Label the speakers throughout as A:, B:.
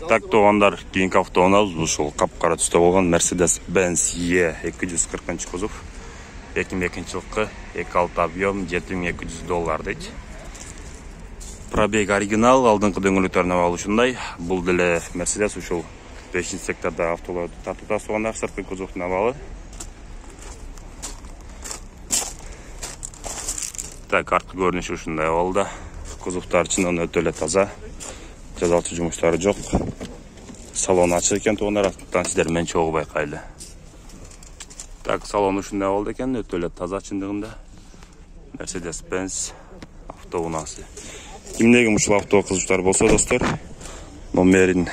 A: Так туугандар, кийинки автоунабыз ушул капкара түстө болгон Mercedes-Benz E240 кузов. 2002-жылкы 2.6 объем $7200 дейт. Пробег оригинал, алдыңкы дөңгөлөктөрүнө абалы ушундай. Бул деле Mercedes ушул 5-секторда автолорду тартууга туугандар, сырткы кузовдун абалы. Так, арткы көрүнүшү ушундай абалда. Кузовдор чынын өтө эле таза. Жазалчы жумуштары жок. Салон ачык экен туугандар, аттан сиздер менен чогуу байкайлы. Так, салон ушундай болду экен, өтө эле таза чындыгында. Mercedes-Benz автоунасы. Кимдеги ушул авто кызыктар болсо, достор, номерин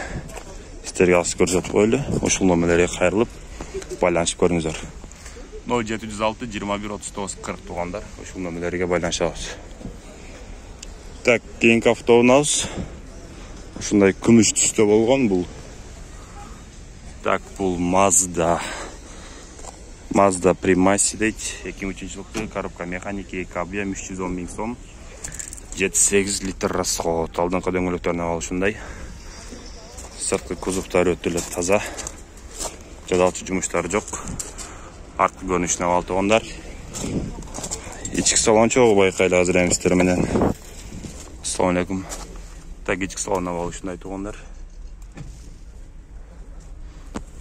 A: сиздерге алып көрсөтүп коелу. Ушул номерлерге кайрылып, байланышып көрүңүздөр. 0706 21 39 40 туугандар, ушул номерлерге байланышабыз. Так, кийинки автоунабыз ушундай күмүш түстө болгон бул. Так, бул Mazda Primacy дейт. 2003-жылкы коробка механики, 2 объем 310 000 сом. 7-8 литр расход. Алдыңкы дөңгөлөктөрүнө абалы ушундай. Сырткы кузовдор өтө эле таза. Жазалчы жумуштары жок. Арткы көрүнүшүнө абалы туугандар. Ички салон чогуу байкайлы азыр эми сиздер менен. Ассалам алейкум. Так, ички салон абалы ушундай туугандар.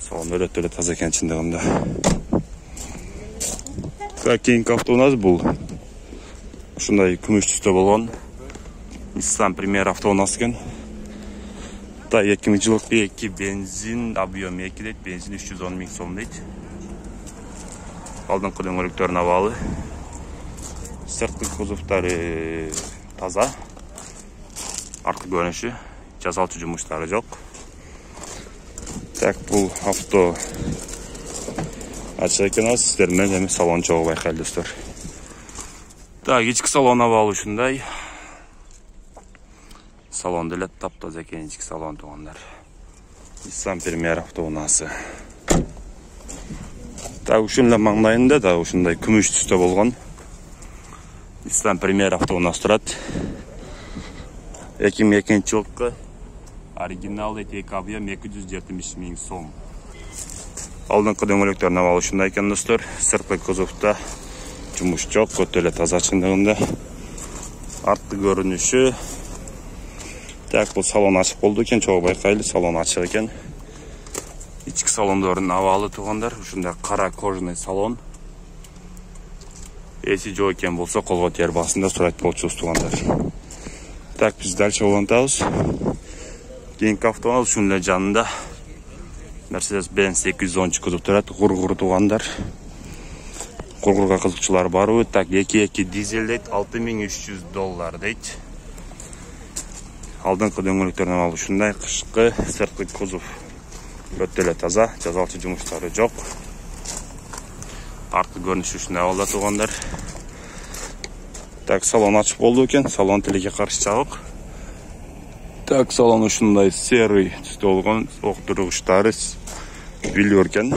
A: Салон өтө эле таза экен чындыгында. Так, кийинки автоунабыз бул ушундай күмүш түстө болгон Nissan Premier автоунасы экен. Так, 2000-жылкы 2 бензин, объем 2 дейт, бензин 310 000 сом дейт. Алдыңкы дөңгөлөктөрүнө абалы. Сырткы кузовдору таза. Арткы көрүнүшү, жазалчы жумуштары жок. Так, бул авто ачык экен, сиздер менен эми салон чогуу байкайлы, достор. Так, ички салон абалы ушундай. Салон деле таптаза экен, ички салон туугандар. Nissan Premier автоунасы. Так, ушун эле маңдайында да ушундай күмүш түстө болгон Nissan Premier автоунасы турат. 2002-жылкы оригинал 2 объем 270 000 сом. Алдыңкы дөңгөлөктөрүнө абалы ушундай экен, достор. Сырткы кузовдо жумуш жок, өтө эле таза чындыгында. Арткы көрүнүшү. Так, бул салон ачык болду экен, чогуу байкайлы, салон ачык экен. Ички салондордун абалы туугандар, ушундай кара кожаный салон. Эси жок экен болсо, колго тер басында сурайт болчубуз туугандар. Так, биз дальше улантабыз. Кийинки автоунабыз ушун эле жанында Mercedes-Benz 210 кузов турат, гургур туугандар. Гургурга кызыкчылар барбы? Так, 2.2 дизель дейт, $6300 дейт. Алдыңкы дөңгөлөктөрүнө абалы ушундай, кышкы сырткы кузов өтө эле таза, жазалчы жумуштары жок. Арткы көрүнүшү ушундай абалда туугандар. Так, салон ачык болду экен, салон тилекке каршы жабык. Так, салон ушундай серый түстө болгон, октургучтары билер экен.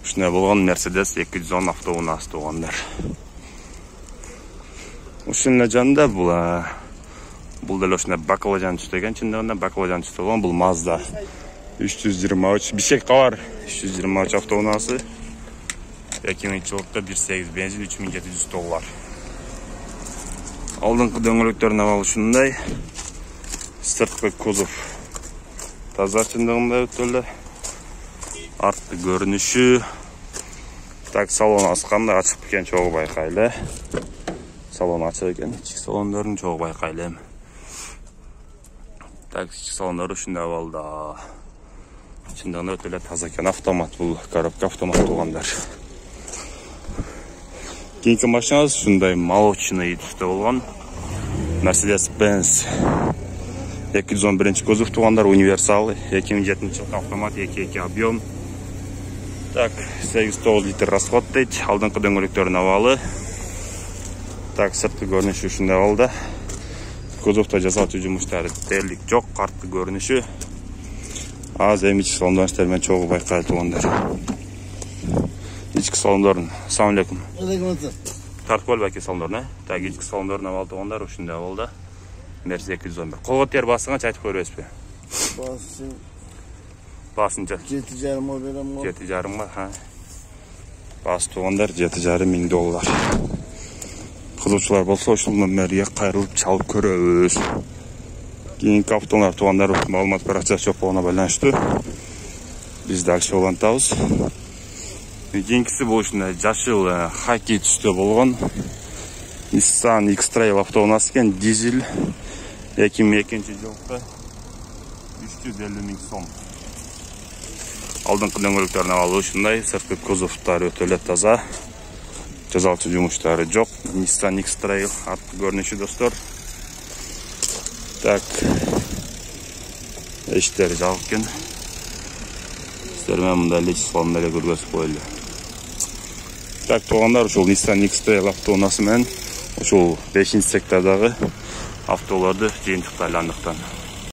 A: Ушундай болгон Mercedes 210 автоунасы туугандар. Ушун эле жанында бул деле ушундай баклажан түстө экен, чындыгында баклажан түстө болгон бул Mazda 323 бишек кабар 323 автоунасы. 2000-жылкы 1.8 бензин $3700. Алдыңкы дөңгөлөктөрүнө абалы ушундай. Сырткы кузов таза чындыгында өтө эле. Арткы көрүнүшү. Так, салон асканда ачык экен, чогуу байкайлы. Салон ачык экен, ички салондорун чогуу байкайлы. Так, ички салондору ушундай абалда. Чындыгында өтө эле таза экен, автомат бул, коробка автомат туугандар. Кийинки машинабыз ушундай молочный түстө болгон Mercedes-Benz 211 кузов туугандар, универсал, 2007-жылкы автомат, 2.2 объем. Так, 8-9 литр расход дейт. Алдыңкы дөңгөлөктөрүнө абалы. Так, сырткы көрүнүшү ушундай абалда. Кузовдо жасалчу жумуштары дерлик жок, арткы көрүнүшү. Аз эми ички салондорун сиздер менен чогуу байкайлы туугандар. Ички салондорун. Ассалам алейкум.
B: Алейкум ассалам.
A: Тартып алып эки салондорун, Так, ички салондорун абалы туугандар ушундай абалда. Mercedes 211. Колго тер басыңа айтып көрөбүзбү? Баасын
B: 7,5 берем го.
A: 7,5 га. Баасы туугандар $7,500. Кызыкчылар болсо ушул номерге кайрылып чалып көрөбүз. Кийинки автолар туугандар маалымат баракчасы жок болгону байланыштуу. Биз дальше улантабыз. Кийинкиси бул ушундай жашыл хаки түстө болгон Nissan X-Trail автоунаасы экен, дизель 2002-жылкы 350 миң сом. Алдыңкы дөңгөлөктөрүн алып ушундай, сырткы кузовдор өтө эле таза. Жазалчы жумуштары жок. Nissan X-Trail артқы көрүнүшү достор. Так. Эштери жабык экен. Сиздер менен мындай лечисларын эле көргөзүп коелу. Так, туугандар, ушул Nissan X-Trail автоунаасы менен ушул 5-сектордагы автолорду жыйынтыктайлы андыктан.